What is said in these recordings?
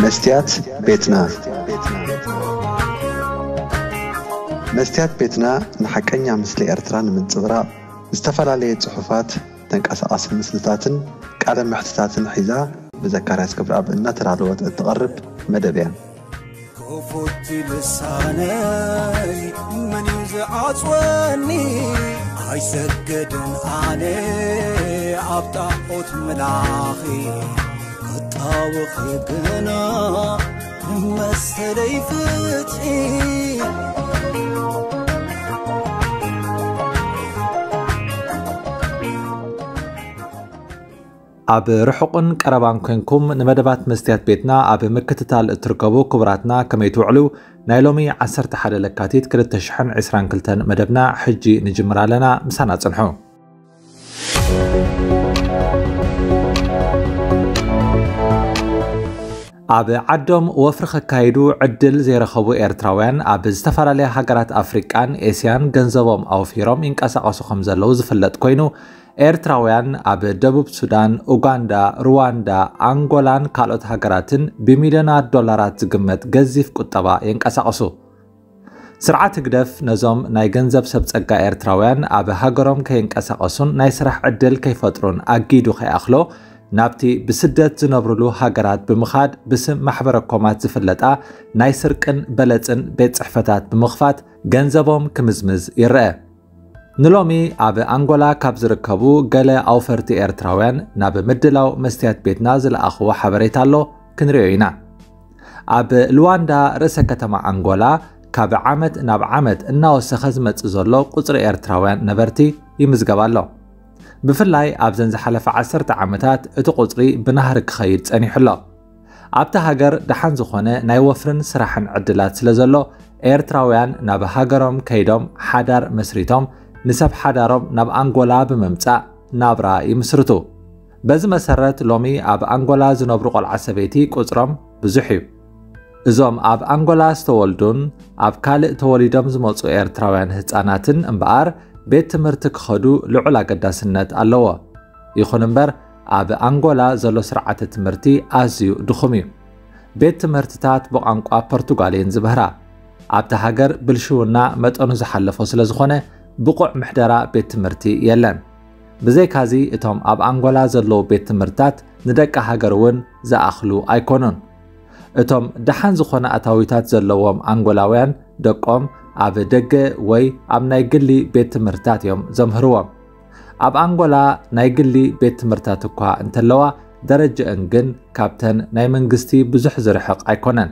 መስትያት ቤትና። መስትያት ቤትና ንሓቀኛ ምስሊ ኤርትራ ንምንጽብራቕ ዝተፈላለየ ጽሑፋት፣ ተንቀሳቓሲ ምስልታትን ቃለ መሕትታትን ሒዛ ብዘካርያስ ገብረኣብ እናተዳለወት እትቐርብ መደብ እያ። ክፉት ልሳነይ መን እዩ ዝዓጽወኒ? ኣይሰግድን ኣነ ኣብ ጣዖት ምላኺ፣ ክጣወኺ ግና መሰለይ ፍትሒ። ኣብ ርሑቕን ቀረባን ኮንኩም ንመደባት መስትያት ቤትና ኣብ ምክትታል እትርከቡ ክቡራትና ከመይ ትውዕሉ? ናይ ሎሚ ዓሰርተ ሓደ ለካቲት ክልተ ሽሕን ዕስራን ክልተን መደብና ሕጂ ንጅምር ኣለና። ምሳና ጽንሑ። ኣብ ዓዶም ወፍሪ ከካይዱ ዕድል ዘይረኸቡ ኤርትራውያን ኣብ ዝተፈላለያ ሃገራት ኣፍሪቃን ኤስያን ገንዘቦም ኣውፊሮም ይንቀሳቐሱ ከም ዘለዉ ዝፍለጥ ኮይኑ፣ ኤርትራውያን ኣብ ደቡብ ሱዳን፣ ኡጋንዳ፣ ሩዋንዳ፣ ኣንጎላን ካልኦት ሃገራትን ብሚልዮናት ዶላራት ዝግመት ገዚፍ ቁጠባ የንቀሳቕሱ። ስርዓት ህግደፍ ነዞም ናይ ገንዘብ ሰብ ጸጋ ኤርትራውያን ኣብ ሃገሮም ከይንቀሳቐሱን ናይ ስራሕ ዕድል ከይፈጥሩን ኣጊዱ ከይኣኽሎ፣ ናብቲ ብስደት ዝነብሩሉ ሃገራት ብምኻድ ብስም ማሕበረ ኮማት ዝፍለጣ ናይ ስርቅን በለጽን ቤት ጽሕፈታት ብምኽፋት ገንዘቦም ክምዝምዝ ይረአ። ንሎሚ ኣብ ኣንጎላ ካብ ዝርከቡ ገለ ኣውፈርቲ ኤርትራውያን ናብ ምድላው መስትያት ቤትና ዝለኣኽዎ ሓበሬታ ኣሎ፣ ክንሪኦ ኢና። ኣብ ሉዋንዳ ርእሰ ከተማ ኣንጎላ ካብ ዓመት ናብ ዓመት እናወሰኸ ዝመጽእ ዘሎ ቁጽሪ ኤርትራውያን ነበርቲ ይምዝገብ ኣሎ። ብፍላይ ኣብዘን ዝሓለፈ ዓሰርተ ዓመታት እቲ ቁጽሪ ብናህሪ ክኸይድ ጸኒሑ ኣሎ። ኣብታ ሃገር ደሓን ዝኾነ ናይ ወፍርን ስራሕን ዕድላት ስለ ዘሎ፣ ኤርትራውያን ናብ ሃገሮም ከይዶም ሓዳር መስሪቶም ንሰብ ሓዳሮም ናብ ኣንጎላ ብምምጻእ ናብራ ይምስርቱ። በዚ መሰረት ሎሚ ኣብ ኣንጎላ ዝነብሩ ቆልዓ ሰበይቲ ቁጽሮም ብዙሕ እዩ። እዞም ኣብ ኣንጎላ ዝተወልዱን ኣብ ካልእ ተወሊዶም ዝመጹ ኤርትራውያን ህጻናትን እምበኣር ቤት ትምህርቲ ክኸዱ ልዑል ኣገዳስነት ኣለዎ። ይኹን እምበር ኣብ ኣንጎላ ዘሎ ስርዓተ ትምህርቲ ኣዝዩ ድኹም እዩ። ቤት ትምህርትታት ብቋንቋ ፖርቱጋል እየን ዝምህራ። ኣብታ ሃገር ብልሽውና መጠኑ ዝሓለፎ ስለ ዝኾነ ብቑዕ ምሕደራ ቤት ትምህርቲ የለን። ብዘይካዚ እቶም ኣብ ኣንጎላ ዘለዉ ቤት ትምህርትታት ንደቂ ሃገር እውን ዝኣኽሉ ኣይኮኑን። እቶም ደሓን ዝኾነ ኣታዊታት ዘለዎም ኣንጎላውያን ደቆም ኣብ ደገ ወይ ኣብ ናይ ግሊ ቤት ትምህርትታት እዮም ዘምህርዎም። ኣብ ኣንጎላ ናይ ግሊ ቤት ትምህርትታት እኳ እንተለዋ፣ ደረጃአን ግን ካብተን ናይ መንግስቲ ብዙሕ ዝርሕቕ ኣይኮነን።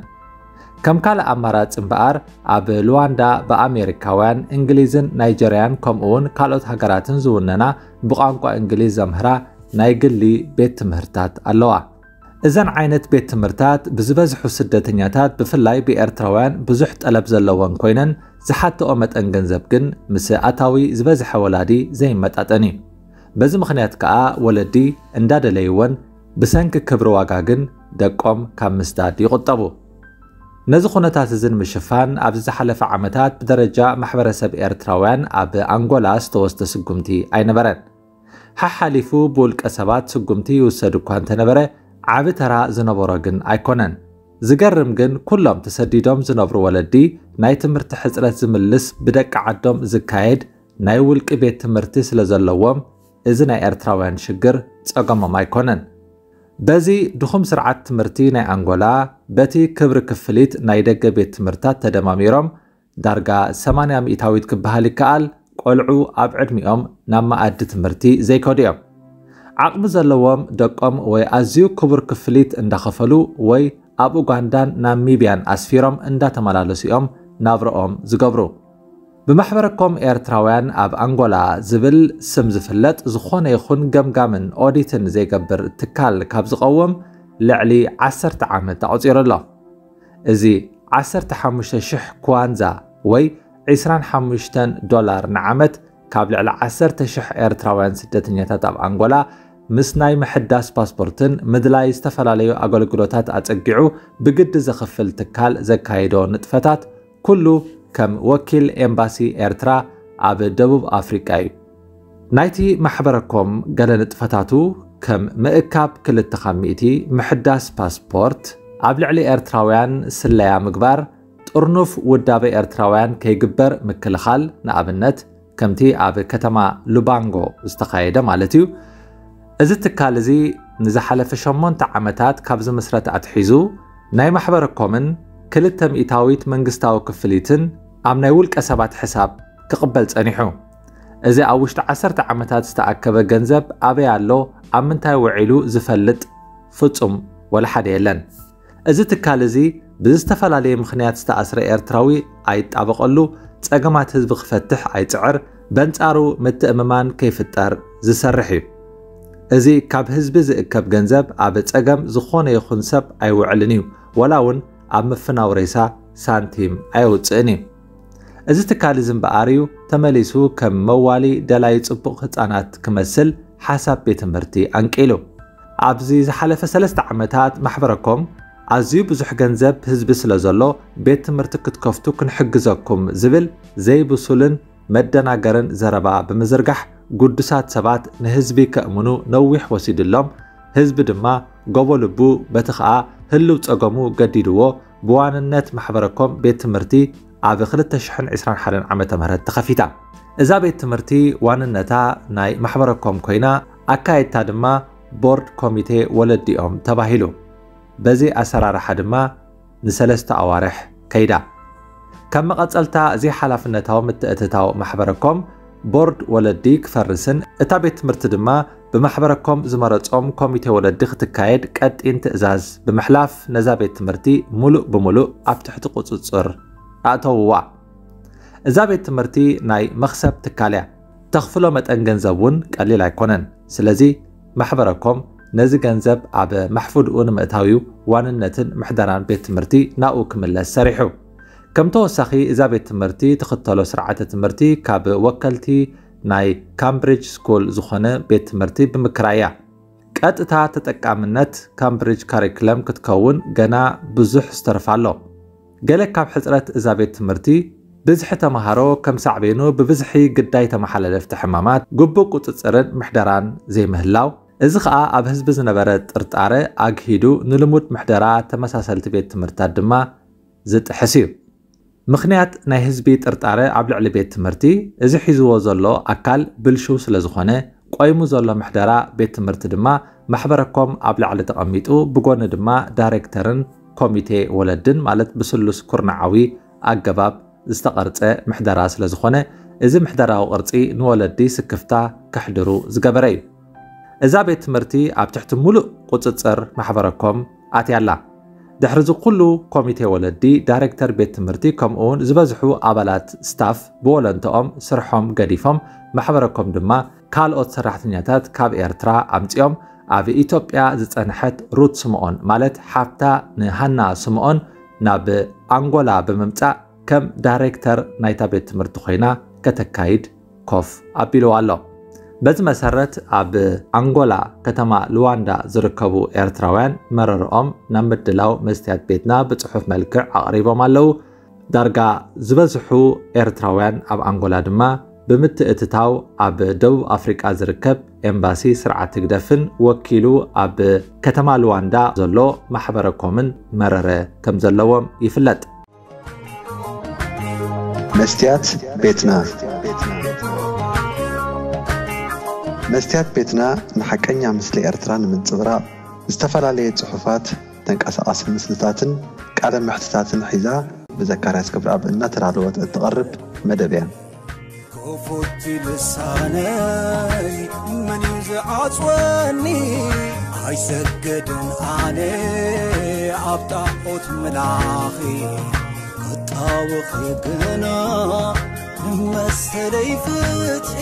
ከም ካልእ ኣማራጺ እምበኣር፣ ኣብ ሉዋንዳ ብኣሜሪካውያን፣ እንግሊዝን ናይጀርያን ከምኡውን ካልኦት ሃገራትን ዝውነና ብቋንቋ እንግሊዝ ዘምህራ ናይ ግሊ ቤት ትምህርትታት ኣለዋ። እዘን ዓይነት ቤት ትምህርትታት ብዝበዝሑ ስደተኛታት፣ ብፍላይ ብኤርትራውያን፣ ብዙሕ ጠለብ ዘለወን ኮይነን፣ ዝሓትኦ መጠን ገንዘብ ግን ምስ ኣታዊ ዝበዝሐ ወላዲ ዘይመጣጠን እዩ። በዚ ምኽንያት ከኣ ወለዲ እንዳደለይወን፣ ብሰንኪ ክብሪ ዋጋ ግን ደቆም ካብ ምስዳድ ይቑጠቡ። ነዚ ኩነታት እዚ ንምሽፋን፣ ኣብዚ ዝሓለፈ ዓመታት ብደረጃ ማሕበረሰብ ኤርትራውያን ኣብ ኣንጎላ ዝተወስደ ስጉምቲ ኣይነበረን። ሓሓሊፉ ብውልቀ ሰባት ስጉምቲ ይውሰድ እኳ እንተነበረ፣ ዓቢ ተራ ዝነበሮ ግን ኣይኮነን። ዝገርም ግን፣ ኩሎም ተሰዲዶም ዝነብሩ ወለዲ፣ ናይ ትምህርቲ ሕጽረት ዝምልስ ብደቂ ዓዶም ዝካየድ ናይ ውልቂ ቤት ትምህርቲ ስለ ዘለዎም፣ እዚ ናይ ኤርትራውያን ሽግር ጸገሞም ኣይኮነን። በዚ ድኹም ስርዓት ትምህርቲ ናይ ኣንጎላ፣ በቲ ክብሪ ክፍሊት ናይ ደገ ቤት ትምህርታት ተደማሚሮም፣ ዳርጋ ሰማንያ ሚእታዊት ክበሃል ይከኣል፣ ቆልዑ ኣብ ዕድሚኦም ናብ መኣዲ ትምህርቲ ዘይከዱ እዮም። ዓቕሚ ዘለዎም ደቆም ወይ ኣዝዩ ክቡር ክፍሊት እንዳኸፈሉ ወይ ኣብ ኡጋንዳን ናሚብያን ኣስፊሮም እንዳተመላለሱ እዮም ናብረኦም ዝገብሩ። ብማሕበረኮም ኤርትራውያን ኣብ ኣንጎላ ዝብል ስም ዝፍለጥ ዝኾነ ይኹን ገምጋምን ኦዲትን ዘይገብር ትካል ካብ ዝቐውም ልዕሊ ዓሰርተ ዓመት ኣቑጺሩ ኣሎ። እዚ ዓሰርተ ሓሙሽተ ሽሕ ክዋንዛ ወይ ዕስራን ሓሙሽተን ዶላር ንዓመት ካብ ልዕሊ ዓሰርተ ሽሕ ኤርትራውያን ስደተኛታት ኣብ ኣንጎላ ምስ ናይ ምሕዳስ ፓስፖርትን ምድላይ ዝተፈላለዩ ኣገልግሎታት ኣጸጊዑ ብግዲ ዘኽፍል ትካል ዘካየዶ ንጥፈታት ኩሉ ከም ወኪል ኤምባሲ ኤርትራ ኣብ ደቡብ ኣፍሪቃ እዩ። ናይቲ ማሕበረኮም ገለ ንጥፈታቱ ከም ምእካብ ክልተ ካብ ሚእቲ፣ ምሕዳስ ፓስፖርት፣ ኣብ ልዕሊ ኤርትራውያን ስለያ ምግባር፣ ጥርኑፍ ውዳበ ኤርትራውያን ከይግበር ምክልኻል፣ ንኣብነት ከምቲ ኣብ ከተማ ሉባንጎ ዝተኻየደ ማለት እዩ። እዚ ትካል እዚ ንዝሓለፈ ሸሞንተ ዓመታት ካብ ዝምስረት ኣትሒዙ ናይ ማሕበረኮምን ክልተ ሚእታዊት መንግስታዊ ክፍሊትን ኣብ ናይ ውልቀ ሰባት ሕሳብ ክቕበል ጸኒሑ። እዚ ኣብ ውሽጢ ዓሰርተ ዓመታት ዝተኣከበ ገንዘብ ኣበይ ኣሎ፣ ኣብ ምንታይ ውዒሉ ዝፈልጥ ፍጹም ወላ ሓደ የለን። እዚ ትካል እዚ ብዝተፈላለየ ምኽንያት ዝተኣስረ ኤርትራዊ ኣይጣበቐሉ፣ ጸገማት ህዝቢ ክፈትሕ ኣይጽዕር፣ በንጻሩ ምትእምማን ከይፍጠር ዝሰርሕ እዩ። እዚ ካብ ህዝቢ ዝእከብ ገንዘብ ኣብ ጸገም ዝኾነ ይኹን ሰብ ኣይውዕልን እዩ፣ ወላ እውን ኣብ ምፍናው ሬሳ ሳንቲም ኣየውጽእን እዩ። እዚ ትካል እዚ እምበኣር እዩ ተመሊሱ ከም መዋሊ ደላይ ጽቡቕ ህጻናት ክመስል ሓሳብ ቤት ትምህርቲ ኣንቂሉ። ኣብዚ ዝሓለፈ ሰለስተ ዓመታት ማሕበረኮም ኣዝዩ ብዙሕ ገንዘብ ህዝቢ ስለ ዘሎ ቤት ትምህርቲ ክትከፍቱ ክንሕግዘኩም ዝብል ዘይብሱልን መደናገርን ዘረባ ብምዝርጋሕ ግዱሳት ሰባት ንህዝቢ ከእምኑ ነዊሕ ወሲድሎም፣ ህዝቢ ድማ ጎቦ ልቡ በቲ ኸኣ ህልው ጸገሙ ገዲድዎ ብዋንነት ማሕበረኮም ቤት ትምህርቲ ኣብ ክልተ ሽሕን ዕስራን ሓደን ዓመተ ምህረት ተኸፊታ። እዛ ቤት ትምህርቲ ዋንነታ ናይ ማሕበረኮም ኮይና ኣካየድታ ድማ ቦርድ ኮሚቴ ወለዲኦም ተባሂሉ። በዚ ኣሰራርሓ ድማ ንሰለስተ ኣዋርሕ ከይዳ። ከም መቐጸልታ እዚ ሓላፍነታዊ ምትእትታው ማሕበረኮም ቦርድ ወለዲ ክፈርስን እታ ቤት ትምህርቲ ድማ ብማሕበረኮም ዝመረጾም ኮሚቴ ወለዲ ክትካየድ ቀጢን ትእዛዝ ብምሕላፍ ነዛ ቤት ትምህርቲ ሙሉእ ብሙሉእ ኣብ ትሕቲ ቁጽጽር ኣእተውዋ። እዛ ቤት ትምህርቲ ናይ መኽሰብ ትካል እያ። ተኽፍሎ መጠን ገንዘብ እውን ቀሊል ኣይኮነን። ስለዚ ማሕበረኮም ነዚ ገንዘብ ኣብ ማሕፉድኡ ንምእታው እዩ ዋንነትን ምሕደራን ቤት ትምህርቲ ናብኡ ክምለስ ሰሪሑ። ከም ተወሳኺ እዛ ቤት ትምህርቲ ትኽተሎ ስርዓተ ትምህርቲ ካብ ወከልቲ ናይ ካምብሪጅ ስኩል ዝኾነ ቤት ትምህርቲ ብምክራይ እያ። ቀጥታ ተጠቃምነት ካምብሪጅ ካሪክለም ክትከውን ገና ብዙሕ ዝተርፋ ኣሎ። ገለ ካብ ሕጽረት እዛ ቤት ትምህርቲ ብዝሒ ተምሃሮ ከም ሳዕቤኑ ብብዝሒ ግዳይ ተመሓላለፍቲ ሕማማት፣ ግቡእ ቁጽጽርን ምሕደራን ዘይምህላው፣ እዚ ኸኣ ኣብ ህዝቢ ዝነበረ ጥርጣረ ኣግሂዱ ንልሙድ ምሕደራ ተመሳሰልቲ ቤት ትምህርትታት ድማ ዝጥሕስ እዩ። ምኽንያት ናይ ህዝቢ ጥርጣረ ኣብ ልዕሊ ቤት ትምህርቲ እዚ ሒዝዎ ዘሎ ኣካል ብልሽው ስለ ዝኾነ፣ ቆይሙ ዘሎ ምሕደራ ቤት ትምህርቲ ድማ ማሕበረኮም ኣብ ላዕሊ ተቐሚጡ፣ ብጎኒ ድማ ዳይሬክተርን ኮሚቴ ወለድን ማለት ብስሉስ ኩርናዓዊ ኣገባብ ዝተቐርጸ ምሕደራ ስለ ዝኾነ፣ እዚ ምሕደራዊ ቅርጺ ንወለዲ ስክፍታ ከሕድሩ ዝገበረ እዩ። እዛ ቤት ትምህርቲ ኣብ ትሕቲ ሙሉእ ቁጽጽር ማሕበረኮም ኣትያ ኣላ። ድሕሪ እዚ ኩሉ ኮሚቴ ወለዲ፣ ዳይሬክተር ቤት ትምህርቲ ከምኡ እውን ዝበዝሑ ኣባላት ስታፍ ብወለንተኦም ስርሖም ገዲፎም፣ ማሕበረኮም ድማ ካልኦት ሰራሕተኛታት ካብ ኤርትራ ኣምጺኦም ኣብ ኢትዮጵያ ዝጸንሐት ሩት ስምኦን ማለት ሓፍታ ንሃና ስምኦን ናብ ኣንጎላ ብምምጻእ ከም ዳይሬክተር ናይታ ቤት ትምህርቲ ኮይና ከተካይድ ኮፍ ኣቢልዋ ኣሎ። በዚ መሰረት ኣብ ኣንጎላ ከተማ ሉዋንዳ ዝርከቡ ኤርትራውያን መረርኦም ናብ ምድላው መስትያት ቤትና ብጽሑፍ መልክዕ ኣቕሪቦም ኣለዉ። ዳርጋ ዝበዝሑ ኤርትራውያን ኣብ ኣንጎላ ድማ ብምትእትታው ኣብ ደቡብ ኣፍሪቃ ዝርከብ ኤምባሲ ስርዓት ህግደፍን ወኪሉ ኣብ ከተማ ሉዋንዳ ዘሎ ማሕበረኮምን መረረ ከም ዘለዎም ይፍለጥ። መስትያት ቤትና። መስትያት ቤትና ንሓቀኛ ምስሊ ኤርትራ ንምንጽብራቕ ዝተፈላለየ ጽሑፋት፣ ተንቀሳቓሲ ምስልታትን ቃለ መሕትታትን ሒዛ ብዘካርያስ ክብረኣብ እናተዳለወት እትቐርብ መደብ እያ። ክፉት ልሳነይ መን እዩ ዝዓጽወኒ? ኣይሰግድን ኣነ ኣብ ጣዖት ምላኺ፣ ክጣወኺ ግና ንመሰለይ ፍትሒ።